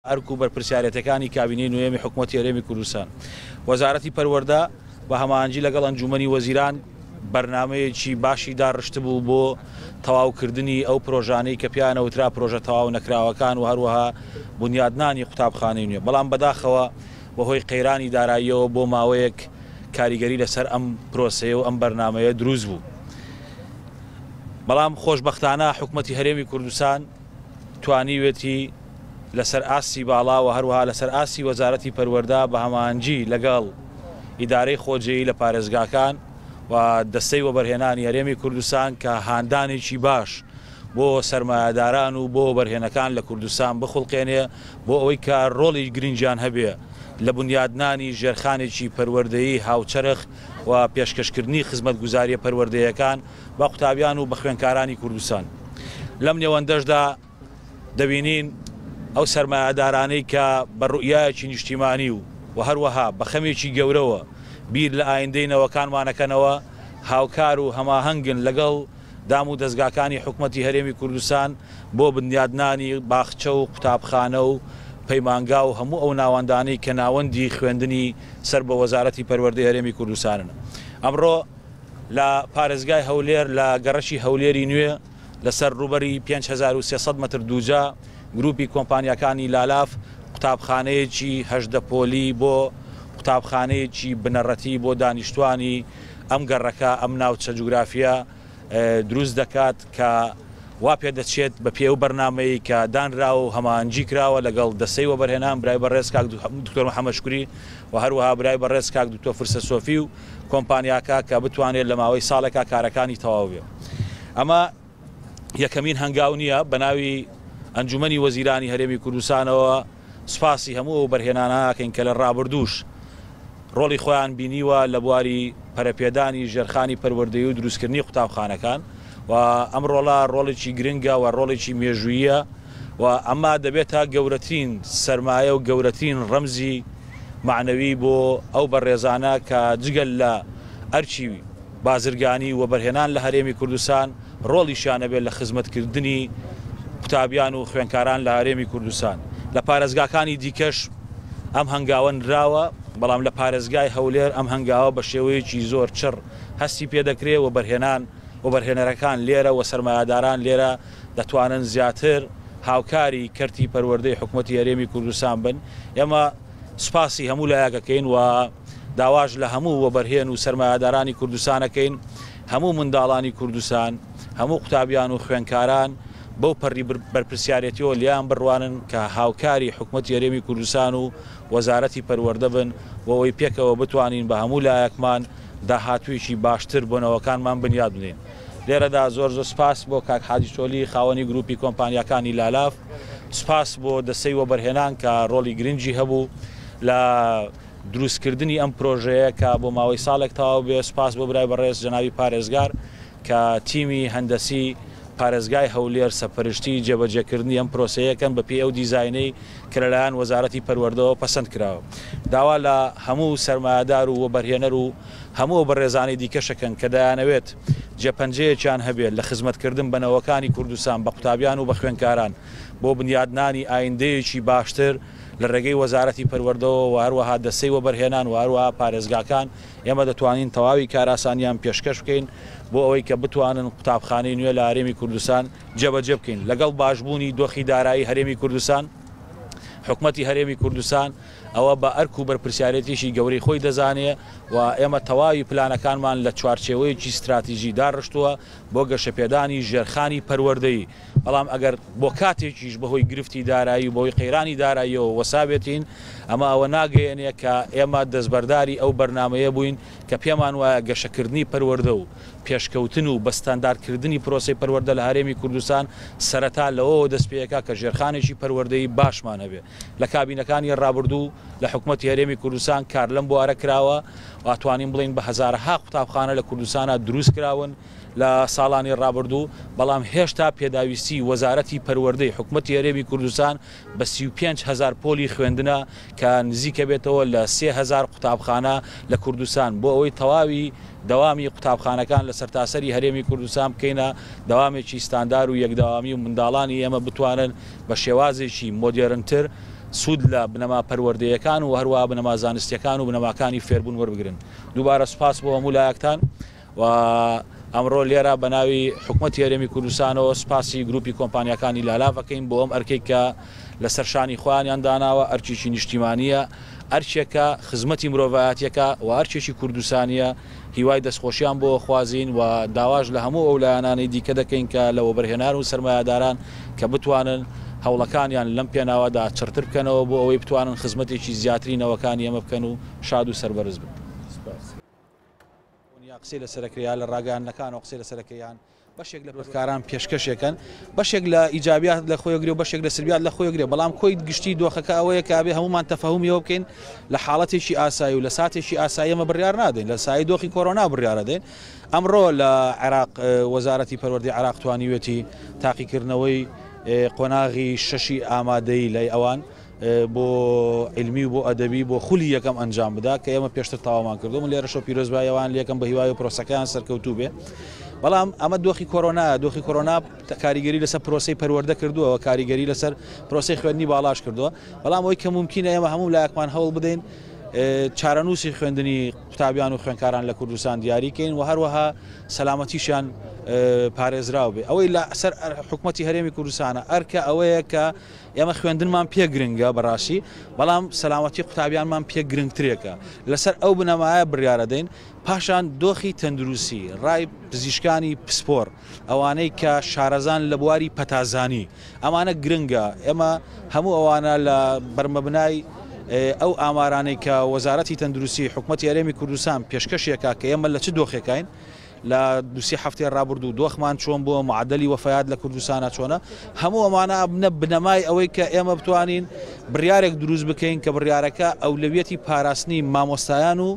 ئەرک و بەرپرسیارێتەکانی کابینەی نۆیەمی حکومەتی هەرێمی کوردستان، وەزارەتی پەروەردە بە هەماهەنگی لەگەڵ ئەنجوومەنی وەزیران بەرنامەیەکی باشی داڕشتبوو بۆ تەواوکردنی ئەو پرۆژانەی کە پێیان ئەوترا پرۆژە تەواو نەکراوەکان و هەروەها بونیادنانی قوتابخانەی نوێ، بەڵام بەداخەوە بەهۆی قەیرانی داراییەوە بۆ ماوەیەک کاریگەری لەسەر ئەم پرۆسەیە و ئەم بەرنامەیە دروست بوو. بەڵام خۆشبەختانە حکومەتی هەرێمی کوردستان توانیوێتی لەسەر ئاستی باڵا و هەروەها لەسەر ئاستی وەزارەتی پەروەردە بە هەماهەنگی لەگەڵ ئیدارەی خۆجێیی لە پارێزگاکان و دەستەی وەبەرهێنانی هەرێمی کوردستان کە هاندانێکی باش بۆ سەرمایەداران و بۆ وەبەرهێنەکان لە کوردستان بخوڵقێنێ بۆ ئەوەی کە ڕۆڵی گرنگیان هەبێ لە بونیادنانی ژێرخانێکی پەروەردەیی هاوچەرخ و پێشکەشکردنی خزمەتگوزارییە پەروەردەیەکان بە قوتابیان و بە خوێندکارانی کوردستان. لەم نێوەندەشدا دەبینین ئەو سەرمایەدارانەی کە بە ڕوئیایەکی نیشتیمانی و و هەروەها بە خەمێکی گەورەوە بیر لە ئایندەی نەوەکانمان ئەکەنەوە هاوکار و هەماهەنگن لەگەڵ دام و دەزگاکانی حکومەتی هەرێمی کوردستان بۆ بنیادنانی باخچە و قوتابخانە و پەیمانگا و هەموو ئەو ناوەندانەی کە ناوەندی خوێندنی سەر بە وەزارەتی پەروەردەی هەرێمی کوردستانن. ئەمڕۆ لە پارێزگای هەولێر لە گەڕەکی هەولێری نوێ لەسەر ڕووبەری 5300 مەتر دووجا گروپی کۆمپانیاکانی لالاف قوتابخانەیەکی 18 پۆلی بۆ قوتابخانەیەکی بنەڕەتی بۆ دانیشتوانی ئەم گەڕەکە ئەم ناوچە جوگرافیە دروست دەکات کە وا پێدەچێت بە پێی ئەو بەرنامەیەی کە دانراوە و هەماهەنگی کراوە لەگەڵ دەستەی وەبەرهێنان برای بەڕێز کاک دکتۆر محەمەد شوکری و هەروەها برای بەڕێز کاک دکتۆر فرسە سۆفی و کۆمپانیاکە کە بتوانێت لە ماوەی ساڵێکا کارەکانی تەواو بێ. ئەمە یەکەمین هەنگاو نییە، بە ناوی ئەنجومەنی وەزیرانی هەرێمی کوردستانەوە سوپاسی هەموو ئەو بەرهێنانە ئەکەین کە لە ڕابردووش ڕۆڵی خۆیان بینیوە لە بواری پەرەپێدانی ژێرخانی پەروەردەیی و دروستکردنی قوتابخانەکان و ئەم ڕۆڵە ڕۆڵێکی گرنگە و ڕۆڵێکی مێژووییە و ئەمە دەبێتە گەورەترین سەرمایە و گەورەترین ڕەمزی مەعنەوی بۆ ئەو بەڕێزانە کە جگە لە ئەرکی بازرگانی و وەبەرهێنان لە هەرێمی کوردستان ڕۆڵیشیان هەبێت لە خزمەتکردنی قوتابیان و خوێندکاران لە هەرێمی کوردستان. لە پارێزگاکانی دیکەش ئەم هەنگاوە نراوە، بەڵام لە پارێزگای هەولێر ئەم هەنگاوە بە شێوەیەکی زۆر چڕ هەستی پێدەکرێ، وەبەرهێنان وەبەرهێنەرەکان لێرە و سەرمایەداران لێرە دەتوانن زیاتر هاوکاری کەرتی پەروەردەی حکومەتی هەرێمی کوردستان بن. ئێمە سوپاسی هەموو لایەک ئەکەین و داواش لە هەموو وەبەرهێن و سەرمایەدارانی کوردستان ئەکەین هەموو منداڵانی کوردستان، هەموو قوتابیان و خوێندکاران بەو پەڕی بەرپرسیارێتیەوە لێیان بڕوانن کە هاوکاری حکومەتی هەرێمی کوردستان و وەزارەتی پەروەردە بن بۆ ئەوەی پێکەوە بتوانین بە هەموو لایەکمان داهاتوویەکی باشتر بۆ نەوەکانمان بنیات بنێین. لێرەدا زۆر زۆر سوپاس بۆ کاک حاجی چۆلی خاوەنی گروپی کۆمپانیاکانی لالاف، سوپاس بۆ دەستەی وەبەرهێنان کە ڕۆڵی گرنگی هەبوو لە دروستکردنی ئەم پرۆژەیە کە بۆ ماوەی ساڵێک تەواو بێ، سوپاس بۆ برای بەڕێز جەنابی پارێزگار کە تیمی هەندەسی پارێزگای هەولێر سەپەرشتی جێبەجێکردنی ئەم پرۆسەیەکەن بەپێی ئەو دیزاینەی کە لەلایەن وەزارەتی پەروەردەوە پەسەند کراوە. داوا لە هەموو سەرمایەدار و وەبەرهێنەر و هەموو ئەو بەڕێزانەی دیکەشەکەن کە دەیانەوێت جێپەنجەیەکیان هەبێت لە خزمەتکردن بە نەوەکانی کوردستان، بە قوتابیان و بە خوێندکاران بۆ بنیادنانی ئایندەیەکی باشتر لە ڕێگەی وەزارەتی پەروەردەوە و هەروەها دەستەی وەبەرهێنان و هەروەها پارێزگاکان ئێمە دەتوانین تەواوی کارئاسانیان پێشکەش بکەین بۆ ئەوەی کە بتوانن قوتابخانەی نوێ لە هەرێمی کوردستان جێبەجێ بکەین. لەگەڵ باشبوونی دۆخی دارایی هەرێمی کوردستان، حکومەتی هەرێمی کوردستان ئەوە بە ئەرک و بەرپرسیارێتیی گەورەی خۆی دەزانێ و ئێمە تەواوی پلانەکانمان لە چوارچێوەیەکی ستراتیژی داڕشتووە بۆ گەشەپێدانی ژێرخانی پەروەردەیی، بەڵام ئەگەر بۆ کاتێکیش بەهۆی گرفتی دارایی و بەهۆی قەیرانی داراییەوە وەسابێتین، ئەمە ئەوە ناگەیەنێ کە ئێمە دەستبەرداری ئەو بەرنامەیە بووین کە پێمان وایە گەشەکردنی پەروەردە و پێشکەوتن و بە ستانداردکردنی پرۆسەی پەروەردە لە هەرێمی کوردستان سەرەتا لەوەوە دەستپێکا کە ژێرخانێکی پەروەردەیی باشمان هەبێ. لە کابینەکانی ڕابردوو لە حکومەتی هەرێمی کوردستان کار لەم بوارە کراوە و ئەتوانین بڵێین بە هەزارەها قوتابخانە لە کوردستانا دروست کراون لە ساڵانی ڕابردوو، بەڵام هێشتا پێداویستی وەزارەتی پەروەردەی حکومەتی هەرێمی کوردستان بە 35,000 پۆلی خوێندنە کە نزیکەبێتەوە لە 3000 قوتابخانە لە کوردستان بۆ ئەوەی تەواوی دەوامی قوتابخانەکان لە سەرتاسەری هەرێمی کوردستان بکەینە دەوامێکی ستاندار و یەکدەوامی و منداڵانی ئێمە بتوانن بە شێوازێکی مۆدێرنتر سوود لە بنەما پەروەردەیەکان و هەروەها بنەما زانستیەکان و بنەماکانی فێربوون وەربگرن. دووبارە سوپاس بۆ هەموو لایەکتان و ئەمڕۆ لێرە بە ناوی حکومەتی هەرێمی کوردستانەوە سوپاسی گروپی کۆمپانیاکانی لالاڤ ئەکەین بۆ ئەم ئەرکەی کە لەسەر شانی خۆیانیان داناوە، ئەرکێکی نیشتیمانییە، ئەرکێکە خزمەتی مرۆڤایەتیەکە و ئەرکێکی کوردستانییە، هیوای دەستخۆشیان بۆ خوازین و داواش لە هەموو ئەو لایەنانەی دیکە دەکەین کە لە وەبەرهێنان و سەرمایەداران کە بتوانن هەوڵەکانیان لەم پێناوەدا چڕتر بکەنەوە بۆ ئەوەی بتوانن خزمەتێکی زیاتری نەوەکانی ئێمە بکەن و شاد و سەربەرز بن. سپاس. یا قسەی لەسەر ئەکرێ یا لە ڕاگەیاندنەکانەوە قسەی لەسەر ئەکرێ یان بەشێک لە پرۆتکاران پێشکەشێکەن بەشێک لە ئیجابیات لە خۆی گرێ و بەشێک لە سلبیات لە خۆی گرێ بەڵام کۆی گشتی دۆخەکە ئەوەیە کە ئەبێ هەمومان تەفەهومیەوە بکەین لە حاڵەتێکی ئاسایی و لە ساتێکی ئاسایی ئەمە بڕیار نادەین لە سایەی دۆخی کۆرۆنا بڕیارەدەین ئەمڕۆ لە عێراق وەزارەتی پەروەردەی عێراق توانیوێتی تاقیکردنەوەی قۆناغی شەشی ئامادەیی لای ئەوان بۆ عیلمی و بۆ ئەدەبی بۆ خولی یەکەم ئەنجام بدا کە ئێمە پێشتر تەواومان کردو من لێرەشەوە پیرۆزبایی ئەوان لێکەم بە هیوای پرۆسەکەیان سەرکەوتوو بێ بەڵام ئەمە دۆخی کۆرۆنا دۆخی کۆرۆنا کاریگەری لەسەر پرۆسەی پەروەردە کردووە کاریگەری لەسەر پرۆسەی خوێندنی باڵاش کردووە بەڵام ئەوەی کە ممکنە ئێمە هەموو لایەکمان هەوڵ بدەین چارەنووسی خوێندنی قوتابیان و خوێندکاران لە کوردستان دیاریکەین و هەروەها سەلامەتیشیان پارێزراو بێ ئەوەی لە سەر حکوومەتی هەرێمی کوردستانە ئەرکە ئەوەیە کە ئێمە خوێندنمان پێ گرنگە بەڕاستی، بەڵام سەلامەتی قوتابیانمان پێ گرنگترێکە، لەسەر ئەو بنەمایە بڕیارەدەین، پاشان دۆخی تەندروستی، ڕای پزیشکانی پسپۆڕ، ئەوانەی کە شارەزان لە بواری پەتازانی، ئەمانە گرنگە، ئێمە هەموو ئەوانە لە بەرمەبنای ئەو ئامارانەی کە وەزارەتی تەندروستی حکومەتی هەرێمی کوردستان پێشکەشیەکا کە ئێمە لە چ دۆخێکاین، لە دوو سێ هەفتەی ڕابردوو دۆخمان چۆن بووە، معەدەلی وەفەیات لە کوردستانا چۆنە، هەموو ئەمانە ئەبنە بنەمای ئەوەی کە ئێمە بتوانین بڕیارێک دروست بکەین کە بڕیارەکە ئەولەویەتی پاراستنی مامۆستایان و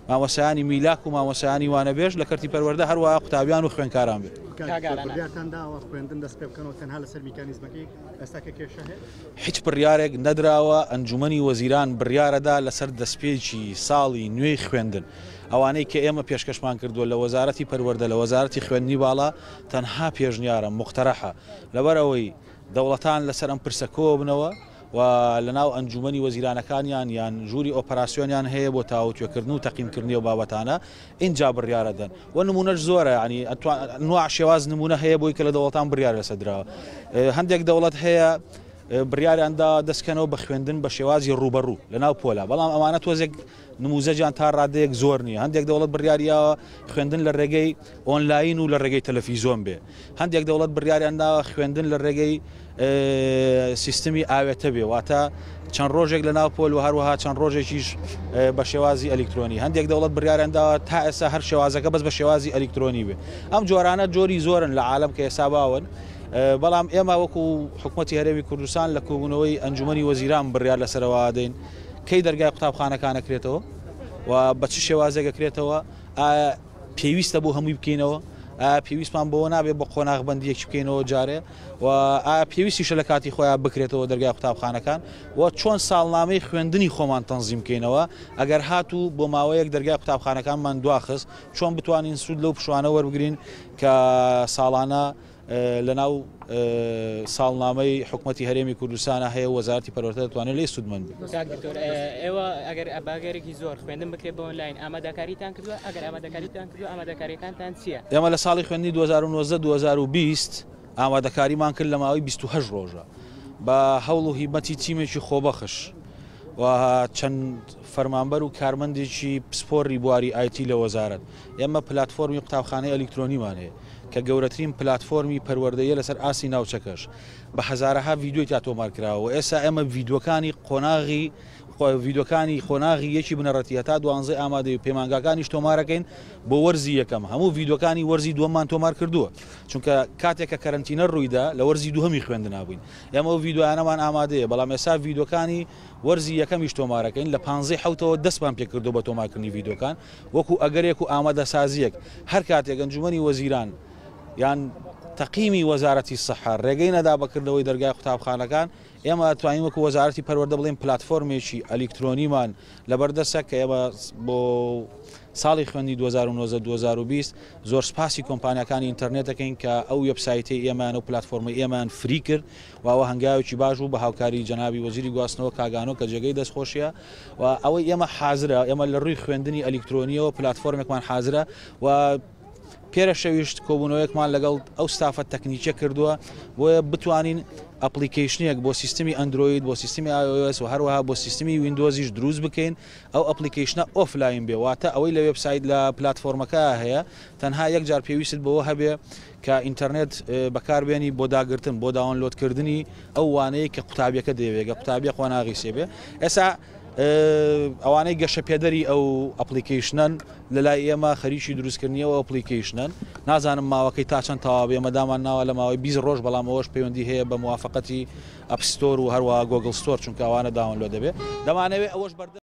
مامۆستایانی میلاک و مامۆستایانی وانەبێژ لە کەرتی پەروەردە هەروەها قوتابیان و خوێندکاران بێت. کاک دکتۆر بڕیارتان داوە خوێندن دەست پێ بکەنەوە تەنها لەسەر میکانیزمەکەی ئێستا کە کێشە هەیە؟ هیچ بڕیارێک نەدراوە، ئەنجومەنی وەزیران بڕیارەدا لەسەر دەستپێکی ساڵی نوێی خوێندن. ئەوانەی کە ئێمە پێشکەشمان کردووە لە وەزارەتی پەروەردە، لە وەزارەتی خوێندنی باڵا تەنها پێشنیارە، موقتەرەحە. لەبەر ئەوەی دەوڵەتان لەسەر ئەم پرسە کۆببنەوە و لەناو ئەنجوومەنی وەزیرانەکانیان یان ژووری ئۆپەراسیۆنیان هەیە بۆ تاوتوێکردن و تەقیمکردنی ئەو بابەتانە، ئینجا بڕیارەدەن. و نموونەش زۆرە، یانی ئەنواع شێواز نموونە هەیە بۆی کە لە دەوڵەتان بڕیار لەسەر دراوە. هەندێک دەوڵەت هەیە بڕیاریان داوە دەستکەنەوە بە خوێندن بە شێوازی ڕووبەڕوو لەناو پۆلا، بەڵام ئەمانە تۆزێک نموزەجیان تا ڕادەیەک زۆر نییە، هەندێک دەوڵەت بڕیاریاوە خوێندن لە ڕێگەی ئۆنلاین و لە ڕێگەی تەلەفیزۆن بێ، هەندێک دەوڵەت بڕیاریان داوە خوێندن لە ڕێگەی سیستمی ئاوێتە بێ، واتە چەند ڕۆژێک لە ناو پۆل و هەروەها چەند ڕۆژێکیش بە شێوازی ئەلیکترۆنی، هەندێک دەوڵەت بڕیاریان داوە تا ئێستا هەر شێوازەکە بەس بە شێوازی ئەلیکترۆنی بێ. ئەم جۆرانە جۆری زۆرن لە عالەم کە ئێستا باون، بەڵام ئێمە وەکو حکومەتی هەرێمی کوردستان لە کۆبوونەوەی ئەنجومەنی وەزیران بڕیار لەسەرەوە دەین کەی دەرگای قوتابخانەکان ئەکرێتەوە و بە چ شێوازێک ئەکرێتەوە، ئایا پێویستە بۆ هەمووی بکەینەوە، ئایا پێویستمان بەوە نابێت بە قۆناغبەندییەکی بکەینەوە جارێ و ئایا پێویستیشە لە کاتی خۆیان بکرێتەوە دەرگای قوتابخانەکان و چۆن ساڵنامەی خوێندنی خۆمان تەنزیم بکەینەوە ئەگەر هاتوو بۆ ماوەیەک دەرگای قوتابخانەکانمان دواخست چۆن بتوانین سوود لەو پشوانە وەربگرین کە ساڵانە لەناو ساڵنامەی حکومەتی هەرێمی کوردستانە هەیە و وەزارەتی پەروەردە دەتوانێت لێی سوودمەند بێت. کاک دکتۆر ئێوە ئەگەر بە ئەگەرێکی زۆر خوێندن بکرێت بە ئۆنلاین ئامادەکاریتان کردووە؟ ئەگەر ئامادەکاریتان کردووە ئامادەکارییەکانتان چییە؟ ئێمە لە ساڵی خوێندنی 2019 2020 ئامادەکاریمان کرد لە ماوەی 28 ڕۆژە بە هەوڵ و هیمەتی تیمێکی خۆبەخش و چەند فەرمانبەر و کارمەندێکی پسپۆڕی بواری ئایتی لە وەزارەت ئێمە پلاتفۆرمی قوتابخانەی ئەلیکترۆنیمان هەیە کە گەورەترین پلاتفۆرمی پەروەردەییە لەسەر ئاستی ناوچەکەش بە هەزارەها ڤیدیۆی تیا تۆمار کراوە و ئێستا ئێمە ڤیدیۆکانی قۆناغی ڤیدیۆکانی قۆناغی یەکی بنەڕەتی هەتا دوانزەی ئامادەی و پەیمانگاکانیش تۆمارەکەین بۆ وەرزی یەکەم هەموو ڤیدیۆکانی وەرزی دووەممان تۆمار کردووە چونکە کاتێک کە کەرەنتینە ڕوویدا لە وەرزی دووهەمی خوێندنا بووین ئێمە ئەو ڤیدیۆیانەمان ئامادەیە بەڵام ئێستا ڤیدیۆکانی وەرزی یەکەمیش تۆمارەکەین لە پانزەی حەوتەوە دەستمان پێکردووە بە تۆمارکردنی ڤیدیۆکان وەکو ئەگەرێک و ئامادەسازییەک، هەر کاتێک ئەنجومەنی وەزیران یان تەقیمی وەزارەتی سەحە ڕێگەی نەدا بە کردنەوەی دەرگای قوتابخانەکان، ئێمە توانین وەکو وەزارەتی پەروەردە بڵێین پلاتفۆرمێکی ئەلیکترۆنیمان لەبەردەستە کە ئێمە بۆ ساڵی خوێندنی 2019 2020 زۆر سپاسی کۆمپانیاکانی ئینتەرنێت دەکەین کە ئەو وێبسایتەی ئێمەیان و پلاتفۆرمەی ئێمەیان free کرد و ئەوە هەنگاوێکی باش بوو بە هاوکاری جەنابی وەزیری گواستنەوە کاک ئانۆ کە جێگەی دەستخۆشیە و ئەوەی ئێمە حازرە ئێمە لە ڕووی خوێندنی ئەلیکترۆنیەوە پلاتفۆرمێکمان حازرە و پێرە شەویش کۆبوونەوەیەکمان لەگەڵ ئەو ستافە تەکنیکیە کردووە بۆیە بتوانین application ێک بۆ سیستمی ئەندرۆید بۆ سیستمی iOS و هەروەها بۆ سیستمی ویندۆزیش دروست بکەین ئەو application ە offline بێ واتە ئەوەی لە وێبسایت لە پلاتفۆرمەکە هەیە تەنها یەک جار پێویستت بەوە هەبێ کە ئینتەرنێت بەکاربێنی بۆ داگرتن بۆ download کردنی ئەو وانەیە کە قوتابیەکە دەیەوێت گە قوتابیە قۆناغی سێ بێ ئێستا ئەوانەی گەشەپێدەری ئەو application ەن لەلای ئێمە خەریکی دروستکردنی ئەو application ەن نازانم ماوەکەی تا چەند تەواو بێ ئێمە دامان ناوە لە ماوەی 20 ڕۆژ بەڵام ئەوەش پەیوەندی هەیە بە موافقەتی App Store و هەروەها Google Store چونکە ئەوانە download دەبێ دەمانەوێ ئەوەش بەردەست.